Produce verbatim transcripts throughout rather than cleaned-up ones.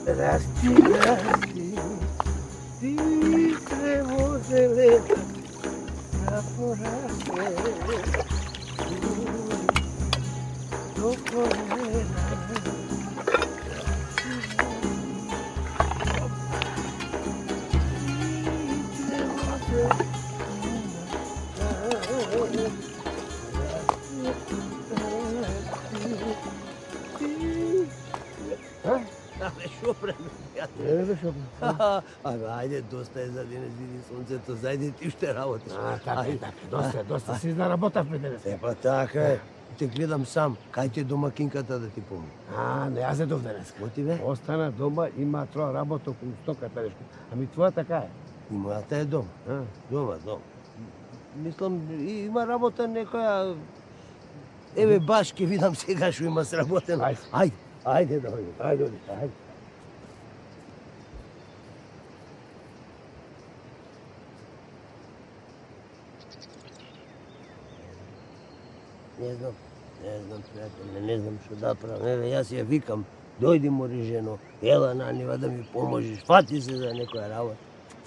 Расти, расти, ти трево зелена, да порасте до колена. Шо правим? Не, бе, шо правим? Абе, ајде, доста е за денес, види сонцето, зајде ти уште работиш. А, така, така, доста, доста си заработавме денес. Е, па така е. Те гледам сам, кај ти е домакинката да ти помни. А, не, јас едов денес. Ко ти бе? Остана дома, има троа работа околу стоката нешто. Ами твоја така е. И мојата е дом. А? Дома, дом. Мислам, има работа некоја... Еве, баш ке видам сега шо има сработено. Ајде. Ајде, ајде да одим. Ајде, оди. Ајде. Не знам, не знам, пријателе, не знам што да правам. Еве, јас ја викам, дојди мори жено, ела на нива да ми поможиш, фати се за некоја работа.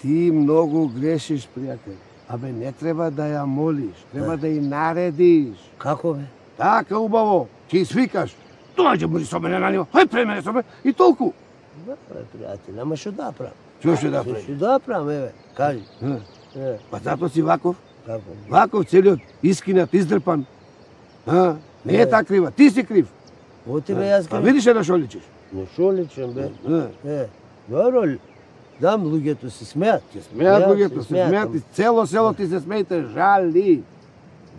Ти многу грешиш, пријател. Абе, не треба да ја молиш, треба да ја наредиш. Како бе? Така убаво, ти свикаш. Доаѓа мори со мене на нива, хај пред мене со мене и толку. Да, бе, пријателе, ама што да правам? Што ќе да правиш? Што да правам, еве, кажи. Е, Па затоа си ваков. како? Ваков целиот искинат, издрпан. А, не е така крива, ти си крив. О тебе јас Па кажам. видиш е да шо личиш. Не шо личам, бе. А, Е, добро ли? Дам, луѓето се смеат. Се смеат луѓето, се смеат и цело село ти се смеите, жали.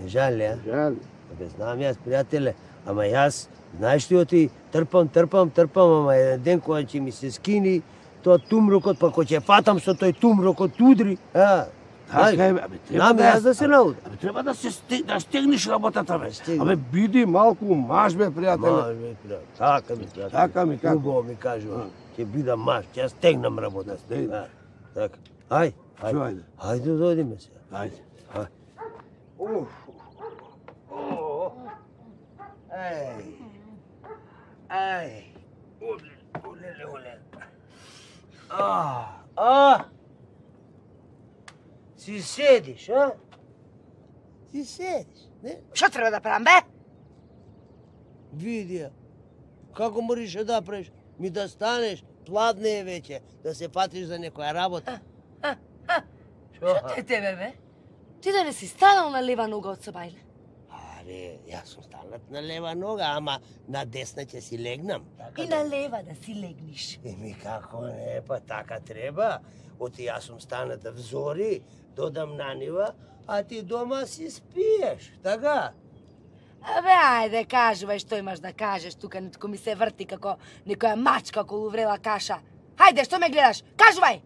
Не жали, а? Жали. Бе, знам јас, пријателе, ама јас, знаеш ли, оти трпам, трпам, трпам, ама еден ден кога ќе ми се скини тоа тумрокот, па кога ќе фатам со тој тумрокот удри, а? Така е, абе, треба Знам да јас да се наудам. Абе, треба да се сте, да стегнеш работата, бе. Стегни. Абе, биди малку маж, бе, пријателе. Маж, бе, пријател. Така ми, пријател. Така ми, како? Убаво ми кажува. Ќе бидам маж, ќе ја стегнам работа. стегнеш. Да, така. Ај, Шо, ај. ајде? Ајде да одиме се. Ајде. Ај. Уф. О. Ај. Ај. Оле, оле, оле. А, а. Си седиш, а? Си седиш, не? Што треба да правам, бе? Види ја. Како можеш да правиш? Ми да станеш, пладне е веќе, да се патиш за некоја работа. Што те тебе, бе? Ти да не си станал на лева нога од собајле? Аре, јас сум станат на лева нога, ама на десна ќе си легнам. Така И на лева да си легниш. Еми како не, па така треба. Оти јас сум станат взори, додам на нива, а ти дома си спиеш, така? Абе, ајде, кажувај што имаш да кажеш, тука нитко ми се врти како некоја мачка околу врела каша. Хајде, што ме гледаш? Кажувај!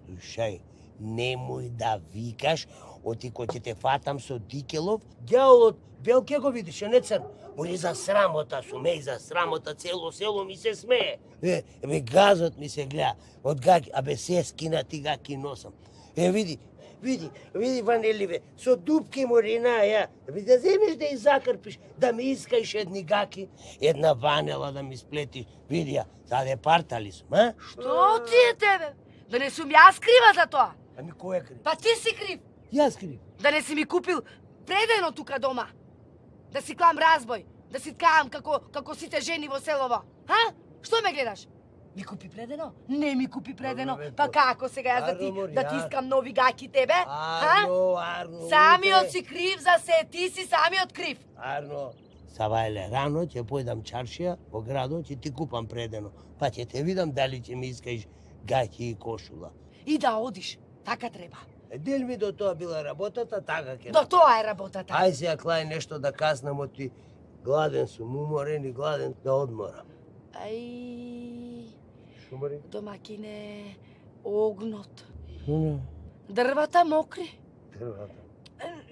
Слушај, немој да викаш, оти кој ќе те фатам со Дикелов, ѓаолот бел ке го видиш, не црн. Мори за срамота сум, еј, за срамота, цело село ми се смее. Е, ебе, газот ми се гледа, од гаки, абе, се скинати гаки носам. Е, види, види, види, Ванеливе, со дупки морина, ја, би да земеш да изакрпиш, да ми искаиш едни гаки, една ванела да ми сплетиш, види ја, заде партали сум, а? Што ти е тебе? Да не сум јас крива за тоа? Ами кој е крив? Па ти си крив. Јас крив. Да не си ми купил предено тука дома. Да си клам разбој, да си ткаам како како сите жени во селово. Ха? Што ме гледаш? Ми купи предено? Не ми купи предено. Арно, бе, Па то- како сега јас да ти Арно, да ти Марија. искам нови гаки тебе? Ха? Арно, Арно. Самиот уте. си крив за се, ти си самиот крив. Арно, Савајле, рано ќе појдам чаршија во градот, ќе ти купам предено. Па ќе те видам дали ќе ми искаш гаќи и кошула. И да одиш. Така треба. Е, дел ми до тоа била работата, така ќе. До тоа е работата. Ај сега клај нешто да каснам, оти гладен сум, уморен и гладен да одморам. Ај, Шумари? домакине, огнот. Не, Дрвата мокри. дрвата.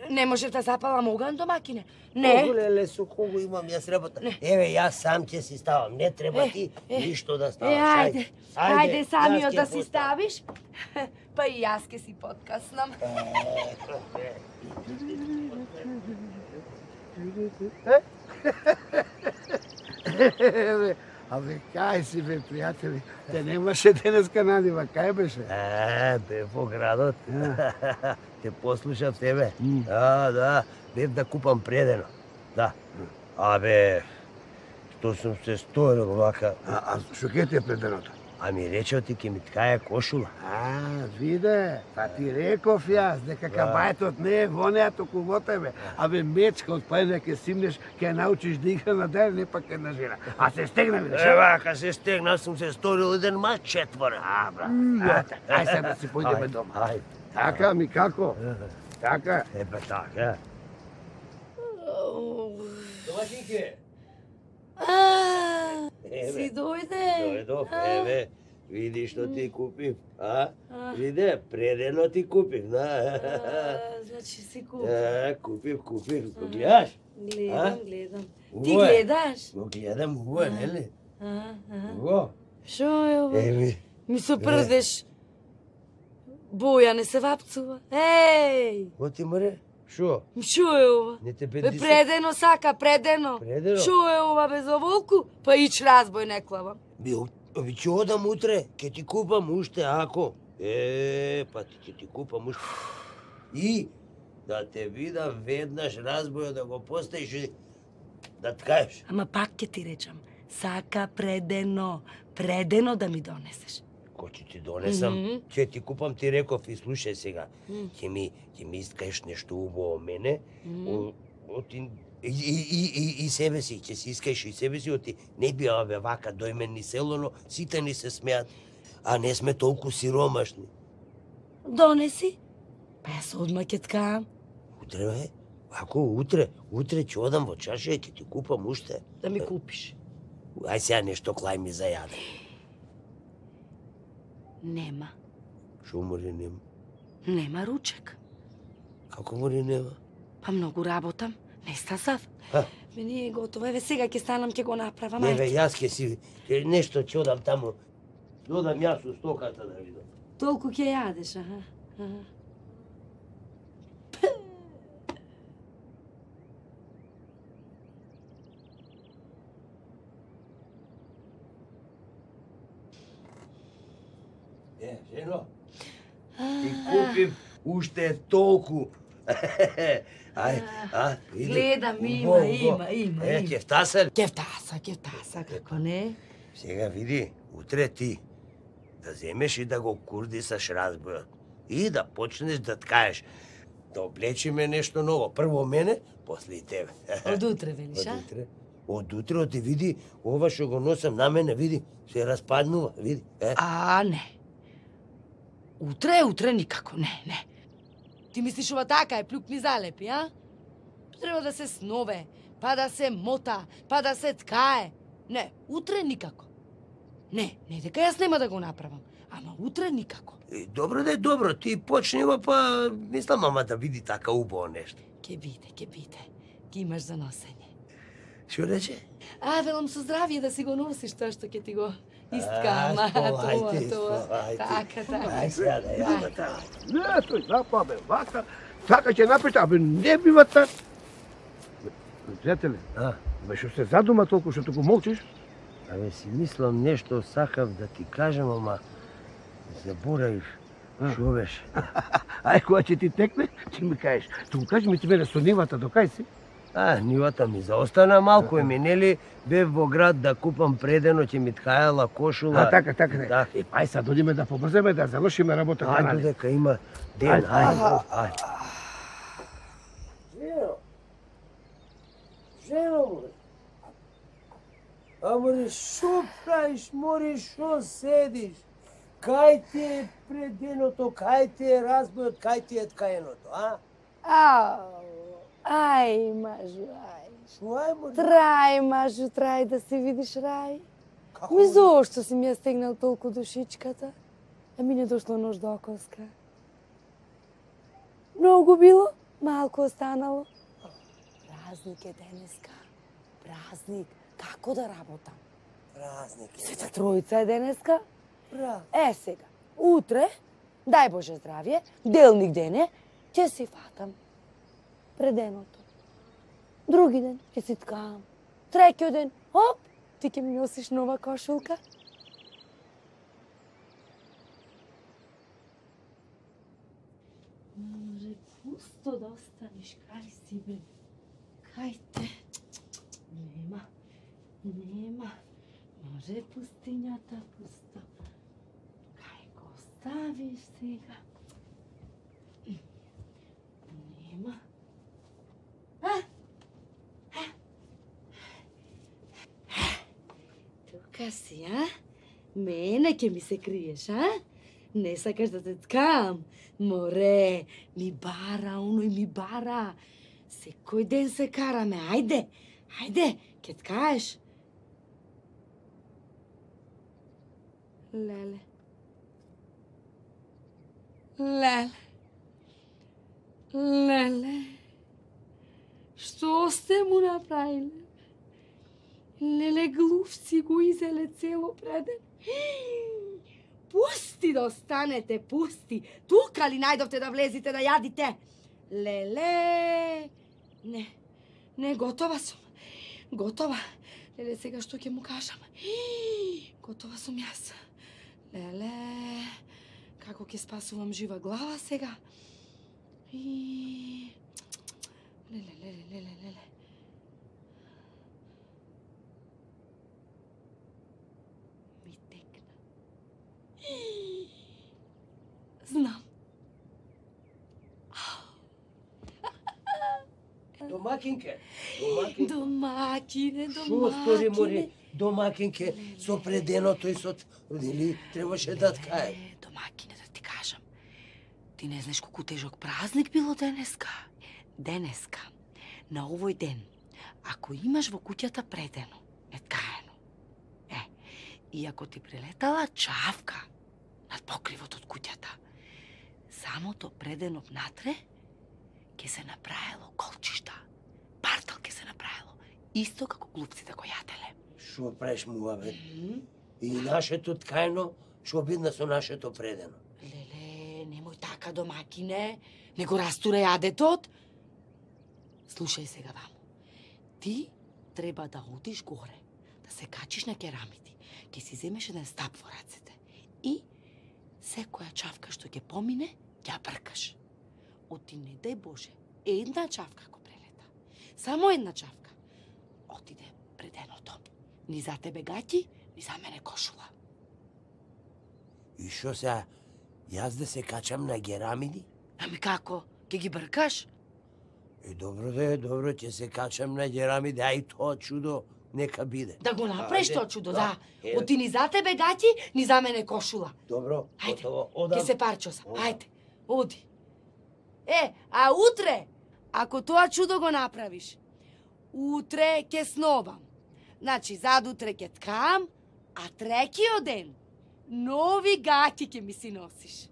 Не можев да запалам оган, домакине. Не. Леле, со кого имам јас работа? Еве, јас сам ќе си ставам, не треба Е, ти е, ништо да Е, ставаш. ајде, ајде јас самиот ќе да си поставам. ставиш. Па и јас ке си подкаснам. Абе, кај си, бе, пријатели? Те немаше денеска на нива, кај беше? Е, бев во градот. Те послушав тебе. Да, да, бев да купам предено. Да. Абе, што сум се сторил вака. А, а што ке ти е преденото? Ами речео ти ке ми ткаја кошула. А, виде, па ти реков јас, дека кабајтот не е во неа, току во тебе. Абе, мечка од пајна ке симнеш, ке научиш да игра на ден, не па ке на жена. А се стегна, видиш? Е, вака се стегна, сум се сторил еден мач четвора. А, брат, ај сега да си појдеме дома. Ајде. Така, ми како? Така. Епа така. Домашинке. А, Еве. си дојде? Дојдов, еве, види што ти купив, а? Виде, предено ти купив, да. А, значи си купи. Е, купив, купив, го гледаш? Гледам, гледам. Уво Ти е. гледаш? Го гледам, уво е, нели? А, а. Уво. Шо е ова? Еви, Ми се прдеш. Боја не се вапцува. Еј! оти море, шо? Шо е ова? Не те Бе, бедиса? предено сака, предено. Предено? Шо е ова без оволку? Па ич разбој не клавам. Би, ови ќе одам утре, ќе ти купам уште ако. Е, па ти ќе ти купам уште. И да те видам веднаш разбојот да го поставиш и да ткаеш. Ама пак ќе ти речам, сака предено, предено да ми донесеш. Кој ќе ти донесам, Мгм. ќе ти купам, ти реков и слушај сега. Ќе ми ќе ми искаеш нешто убаво од мене, о- од и, и, и, и, и себе си, ќе си искаеш и себе си, оти не би ове вака дојмени село, сите ни се смеат, а не сме толку сиромашни. Донеси? Па јас одма ќе ткаам. Утре, бе? Ако утре, утре ќе одам во чашија, ќе ти купам уште. Да ми купиш. Ај сега нешто клај ми за јаде. Нема. Шо мори нема? Нема ручек. Како мори нема? Па многу работам. Не стасав. Ха. Мене е готово. Еве сега ќе станам, ќе го направам. Не, бе, Ајде. јас ќе си, ќе нешто ќе одам таму. Додам јас у стоката да видам. Толку ќе јадеш, аха. аха. Е, жено, ти купив уште толку. Ај, а, види. Гледам, има, Убаво, има, убаво. има, Е, има. ќе втасал. Кефтаса, кефтаса, како не? Сега види, утре ти да земеш и да го курдисаш разбојот. И да почнеш да ткаеш. Да облечиме нешто ново. Прво мене, после и тебе. Од утре, велиш, Од а? утре. Од утре, оти види, ова што го носам на мене, види, се распаднува, види. Е? А, не. Утре, утре никако, не, не. Ти мислиш ова така е, плюк ми залепи, а? Треба да се снове, па да се мота, па да се ткае. Не, утре никако. Не, не дека јас нема да го направам, ама утре никако. И, добро да е добро, ти почнева, па мислам мама да види така убаво нешто. Ке биде, ке биде. Ги имаш за носење. Што рече? А, велам со здравие да си го носиш тоа што ќе ти го А, искам. А, тоа, сполајте, тоа. сполајте. Така, така. Ај сега да ја Ај. така. Не, тој запа, бе, вака. Така ќе напишете, абе, не бива така. Пријателе, А, бе, што се задума толку што туку молчиш? абе си мислам нешто сакав да ти кажам, ама заборавив. Шо беше? Ај, кога ќе ти текне, ќе ми кажеш. Туку кажи ми ти мене со нивата до кај си? А, нивата ми заостана малку, еми нели бев во град да купам предено, ќе ми ткајала кошула. А, така, така, не. Да. Е, па, ај са, додиме да побрземе, да завршиме работата. Ајде нали? дека има ден, Ајде. ајде, ајде. Жено, жено, море. А море, шо правиш, море, шо седиш? Кај ти е преденото, кај ти е разбојот, кај ти е ткаеното, а? Ау, ај, мажу, ај. Шо ај, море? Трај, мажу, трај да се видиш рај. Како Ми зошто си ми ја стегнал толку душичката? А ми не дошло нож до окоска. Многу било, малку останало. Празник е денеска. Празник. Како да работам? Празник е. Света Тројца е денеска. Празник. Е сега, утре, дај Боже здравје, делник ден е, ќе си фатам преденото. Други ден ќе си ткам. Треќиот ден, оп, Ти ќе ми носиш нова кошулка? Може, пусто да останеш, кај си, бе? Кај те? Нема, нема. Може пустињата пусто. Кај го оставиш сега? Нема. А? Тука си, а? Мене ќе ми се криеш, а? Не сакаш да те ткам? Море, ми бара, оној ми бара. Секој ден се караме, ајде, ајде, ќе ткаеш. Леле. Леле. Леле. Што сте му направиле? Леле, глувци го изеле цело преден. Пусти да останете, пусти. Тука ли најдовте да влезите да јадите? Леле. Не, не, готова сум. Готова. Леле, сега што ќе му кажам? Готова сум јас. Леле, како ќе спасувам жива глава сега? И... Леле, леле, леле, леле. Ми текна. Знам. Домакинке, домакинке. Домакине, Шо стори, море, домакине. домакинке, со преденото и со... Или требаше да ткае? Е, домакине, да ти кажам. Ти не знаеш колку тежок празник било денеска. Денеска, на овој ден, ако имаш во куќата предено, неткаено, е, и ако ти прелетала чавка над покривот од куќата, самото предено внатре ќе се направило колчишта. Партал ќе се направило, исто како глупците го јаделе. Шо правиш муабет? И нашето ткаено, шо бидна со нашето предено? Леле, немој така, домакине, не го растуре јадетот. Слушај сега ваму. Ти треба да одиш горе, да се качиш на керамиди, ќе си земеш еден стап во рацете и секоја чавка што ќе помине, ќе бркаш. Оти, не дај Боже, една чавка го прелета. Само една чавка. Отиде преденото. Ни за тебе гаќи, ни за мене кошула. И шо сега, јас да се качам на керамиди? Ами како? Ќе ги бркаш? Е, добро да е, добро, ќе се качам на керамиди, ај тоа чудо, нека биде. Да го направиш Ајде, тоа чудо, да. да. Е. Оти ни за тебе гаќи, ни за мене кошула. Добро, Ајде, готово, одам. ќе се парчосам. Одам. Ајде, оди. Е, а утре, ако тоа чудо го направиш, утре ќе сновам. Значи, задутре ќе ткам, а трекиот ден, нови гаќи ќе ми си носиш.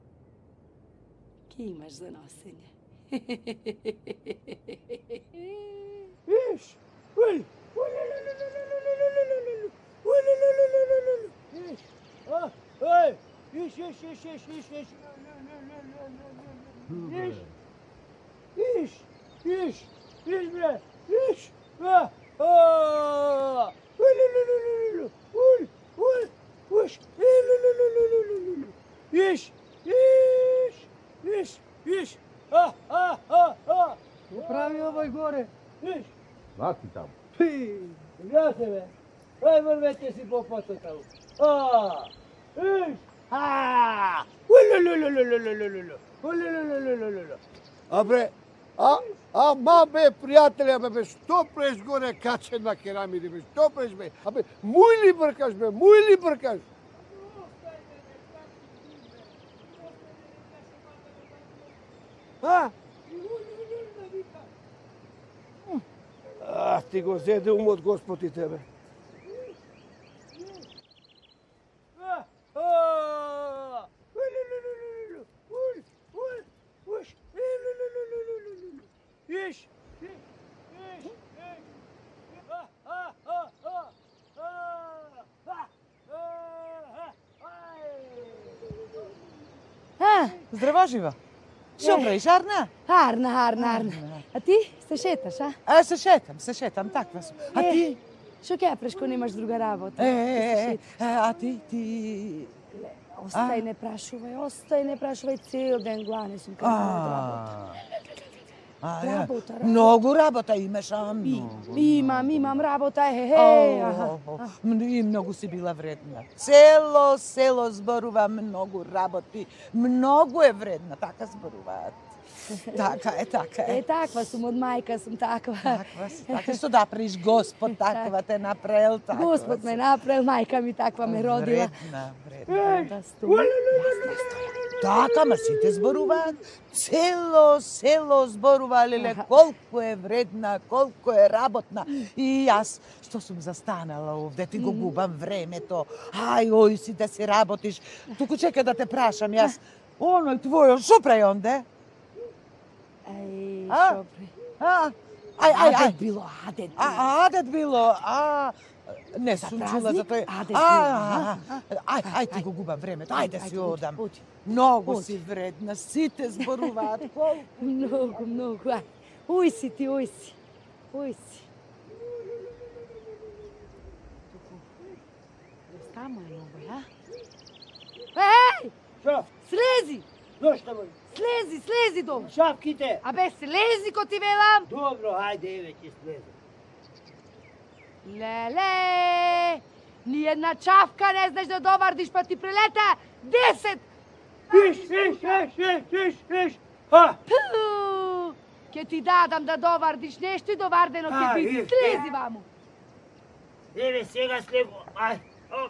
Ке имаш за носење. Виж, уј, Виж, а, ей, виж, виж, виж, виж, виж, виж. Виж, виж, виж, виж, бре, виж, а, а, уј, лу, лу, лу, лу, лу, уј, уј, уж, и, лу, лу, лу, лу, лу, лу, лу. Виж, виж, виж, виж, а, а, а, а. Прави овој горе, виж. Ваки таму. Пи, гледа се, бе. Ај, врвете си по пото таму. А, виж, а, улулулулулулулулу, улулулулулулу. А бре, а, а, ма бе, пријателе, бе, бе, што преш горе качен на керамиди, бе, што преш, бе, а бе, муј ли бркаш, бе, муј ли бркаш? А? А, ти го зеде умот Господ и тебе. А, здраво жива. Што правиш, Арна? Арна, Арна, Арна. А ти се шеташ, а? А, се шетам, се шетам, таква сум. А Е. ти? Што ќе прешко немаш друга работа? Е, е, е, а ти, ти... Остај, не прашувај, остај, не прашувај, цел ден глане сум како од работа. А, Работа, работа. Многу работа имаш, а многу. Имам, имам работа, е, е, аха. И многу си била вредна. Цело село зборува многу работи. Многу е вредна, така зборуваат. Така е, така е. Е, таква сум, од мајка сум таква. Таква си, така што да приш Господ таква те направил, така. Господ ме направил, мајка ми таква ме родила. Вредна, вредна. Да стои. Така, ма сите зборуваат. Цело село зборува, леле, колку е вредна, колку е работна. И јас, што сум застанала овде, ти го губам времето. Ај, ој си да си работиш. Туку чека да те прашам, јас. Оној твојо, шо прај онде? Ај, А? шопри. А, ај, ај, ај. Адет било, адет било. А, адет било, а... Не сум чула за тој... Адет А, било. ај, ај, ти го губам времето, ајде си оди, одам. оди. Многу Оди. си вредна, сите зборуваат колку. Многу, многу, ај. Уј си ти, уј си. Уј си. Тамо е многу, а? Еј! Шо? Слези! Зошто му? Слези, слези долу! Шапките. Абе, слези ко ти велам! Добро, ајде, еве ќе слезам. Леле! Ни една чавка не знаеш да довардиш, па ти прелета десет! Иш, иш, иш, иш, иш, иш. А, Пу! Ке ти дадам да довардиш нешто и довардено ке А, биде. е, Слези ваму! еве сега слего. Ај. О,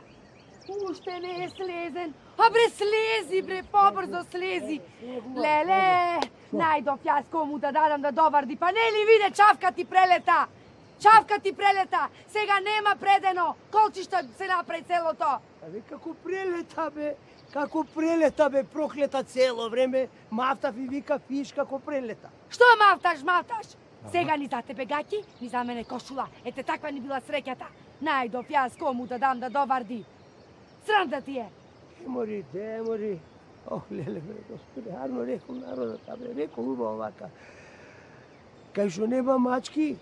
Уште не е слезен. А бре, слези, бре, побрзо слези. Леле, најдов јас кому да дадам да доварди, па не ли виде чавка ти прелета? Чавка ти прелета, сега нема предено, колчишта се направи целото. Абе, како прелета, бе. Како прелета, бе, проклета цело време. Мафтав и вика фиш како прелета. Што мавташ, мавташ? Сега ни за тебе гаќи, ни за мене кошула. Ете таква ни била среќата. Најдов јас кому да дам да доварди. Срам да ти е. Демори, демори. Ох, леле, бе, господи, арно рекол народот, бе, рекол убаво вака. Кај што нема мачки,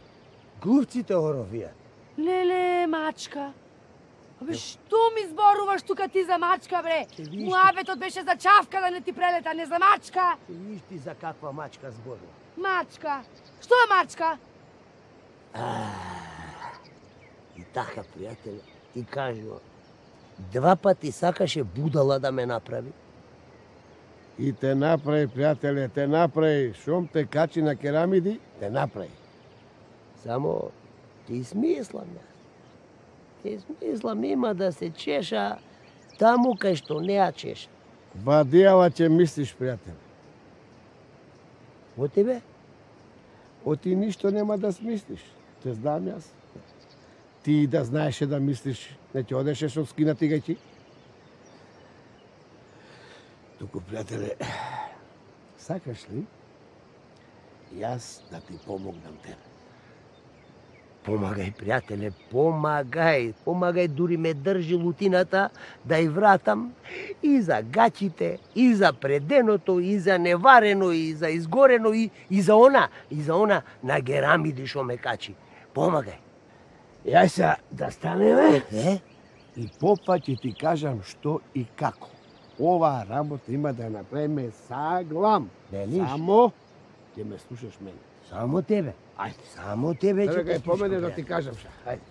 глупците оровијат. Леле, мачка. Абе, што ми зборуваш тука ти за мачка, бре? Ќе видиш ти. Муабетот беше за чавка да не ти прелета, не за мачка. Ти виж ти за каква мачка зборува. Мачка. Што е мачка? И така, пријателе, ти кажува, два пати сакаше будала да ме направи. И те направи, пријателе, те направи. Шом те качи на керамиди, те направи. Само ти смислам јас. Ти смислам има да се чеша таму кај што не ја чеша. Бадијава ќе мислиш, пријателе. О тебе? О ти ништо нема да смислиш. Те знам јас. Ти да знаеше да мислиш, не ќе одеше со скинати гајчи? Туку, пријателе, сакаш ли јас да ти помогнам тебе? Помагај, пријателе, помагај. Помагај, дури ме држи лутината да ја вратам и за гачите, и за преденото, и за неварено, и за изгорено, и, и за она, и за она на герамиди шо ме качи. Помагај. Јас се да станеме, е? И попа ќе ти кажам што и како. Оваа работа има да ја направиме саглам. Велиш? Само ќе ме слушаш мене. Само тебе. Ајде, само тебе ќе Еве те кај поменеш да слушам, ти пријателе. кажам ша. Ајде.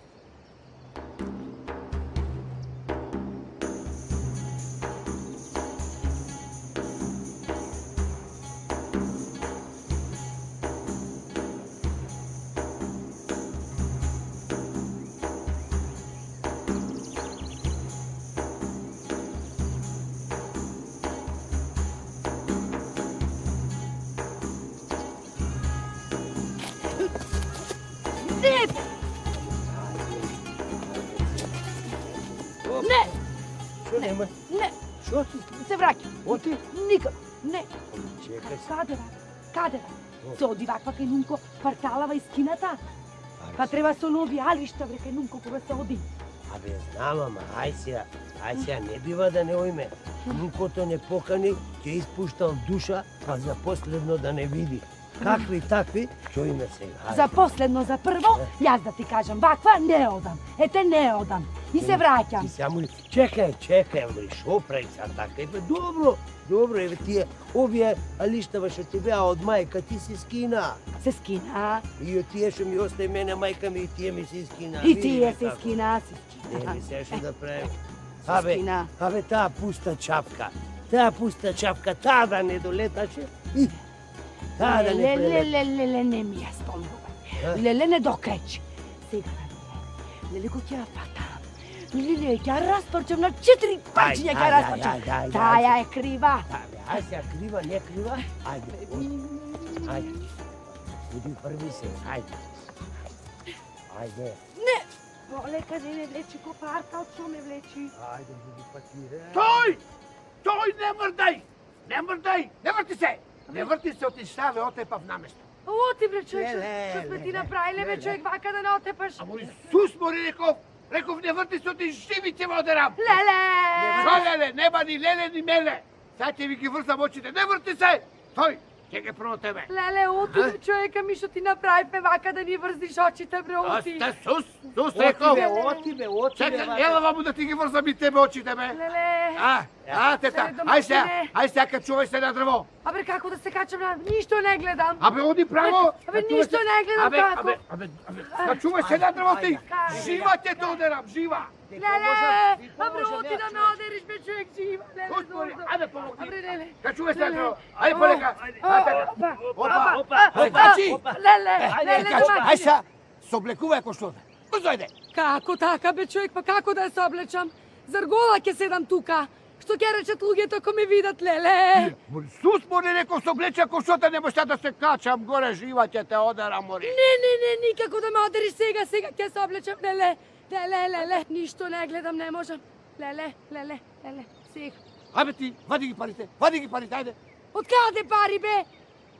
Не! Не! Шо нема? Не! Шо ти? Се враќа. Оти? Никак. Не. Чекај се. Каде вака? Каде? Се оди ваква кај Нунко, парталава из кината. Па треба со нови алишта, бре, кај Нунко кога се оди. Абе, знам, ама, ај сега, ај сега, не бива да не ојме. Никото не покани, ќе испуштал душа, па за последно да не види. Какви такви, чујме сега. За последно, за прво, јас да ти кажам, ваква не одам. Ете не одам. И се враќам. Ти само ли... Чекај, чекај, Амри, шо прави са така? Еве, добро, добро, еве тие, овие алиштава што ти беа од мајка, ти си скина. Се скина. И од тие што ми остај мене мајка ми, и тие ми се скина. И тие се скина, се скина. Не ми се што да правим. Абе, скина. абе, таа пуста чапка, таа пуста чапка, таа да не долеташе, и таа да не Леле, прелета. леле, леле, не ми ја спомнува. Леле, не докречи. Сега да леле, кој ќе ја фатам. Леле, ќе ја распорчам на четири парчиња, ќе ја распорчам. Таја е крива. Ајде, ја крива, не крива, ајде, ајде. Буди први се, ајде. Ајде. Не! Полека, не не влечи копарка, од што ме влечи? Ајде, буди патире. Тој! Тој, не мрдај! Не мрдај! Не врти се! Не врти се, отиштаве, отепав наместо. Оти, бре, човек, Леле, што сме ти леле, направиле, бе, леле. човек, вака да не отепаш. Ама Исус мори реков, реков не врти се, оти живи ќе ме одерам. Леле! Шо леле, нема ни леле ни меле. Сад ќе ви ги врзам очите, не врти се! Тој, ќе ги прво тебе. Леле, оти, бе, човека ми, што ти направивме вака да ни врзниш очите, бре, оти. Сте Сус, Сус Оти реков. бе, оти бе, оти бе. Чекай, ела ваму да ти ги врзам и тебе очите, бе. Леле! А, а, тета, Леле, ај сега, домашине. ај сега качувај се на дрво. Абе, како да се качам на... Ништо не гледам. Абе, оди право. Абе, Качувај ништо се. не гледам Абе, како. абе, абе, абе, качувај се на дрво ти. Ајде. Жива ќе те одерам, жива. Леле! Абе, оти да ме одериш, бе, човек, жива. Леле, Ус мори, зозо. ајде помогни. Абе, леле. Качувај се на Леле. дрво. Ајде полека. Опа, Ајде. опа, Опа, опа, качи. Леле, Ајде, леле, качи. Ај домашине. сега, се облекувај ако што. Узојде. Како така, бе, човек, па како да ја се облечам? Зар гола ќе седам тука? Што ќе речат луѓето ако ме видат, леле? Сус мори реков се облече кошота, не можеш да се качам горе, жива ќе те одерам, мори. Не, не, не, никако да ме одериш сега, сега ќе се облечам, леле. Леле, леле, ништо не гледам, не можам. Леле, леле, леле, сега. Абе ти, вади ги парите, вади ги парите, ајде. Од каде пари, бе?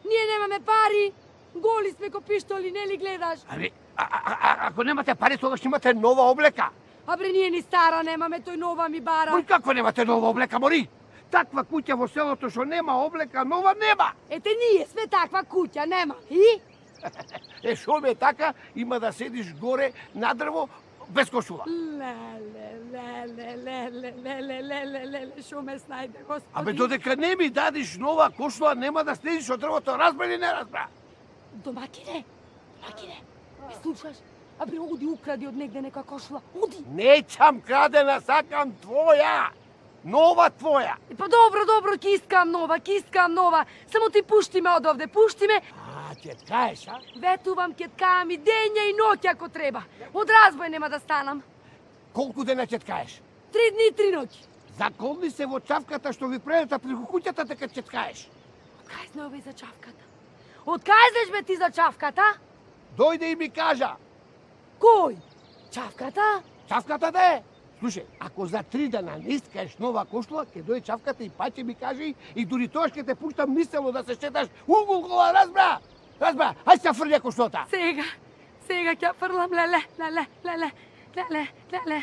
Ние немаме пари. Голи сме ко пиштоли, не ли гледаш? Абе, а, а, а, ако немате пари, тогаш имате нова облека. Абре, ние ни стара немаме, тој нова ми бара. Мој како немате нова облека, мори? Таква куќа во селото што нема облека, нова нема. Ете, ние сме таква куќа, нема. И? Е, шо ме така, има да седиш горе на дрво без кошула. Леле, леле, леле, леле, леле, леле, шо ме снајде, господи. Абе, додека не ми дадиш нова кошула, нема да слезиш од дрвото, разбра или не разбра? Домакине, домакине, ме слушаш? Абре, оди укради од негде нека кошула, оди. Неќам крадена, сакам твоја. Нова твоја. И па добро, добро, ќе искам нова, ќе искам нова. Само ти пушти ме од овде, пушти ме. А, ќе ткаеш, а? Ветувам, ќе ткаам и дења и ноќ ако треба. Од разбој нема да станам. Колку дена ќе ткаеш? Три дни и три ноќи. Заколни се во чавката што ви прелета преку куќата, дека ќе ткаеш. Од кај знае овој за чавката? Од кај знаеш бе ти за чавката? Дојде и ми кажа. Кој? Чавката? Чавката да е. Слушај, ако за три дена не искаеш нова кошула, ќе дојде чавката и па ќе ми каже и дури тоа ќе те пуштам мислено да се шеташ угулкова, разбра? Разбра, ај се фрља кошулата. Сега, сега ќе фрлам, леле, леле, леле, леле, леле.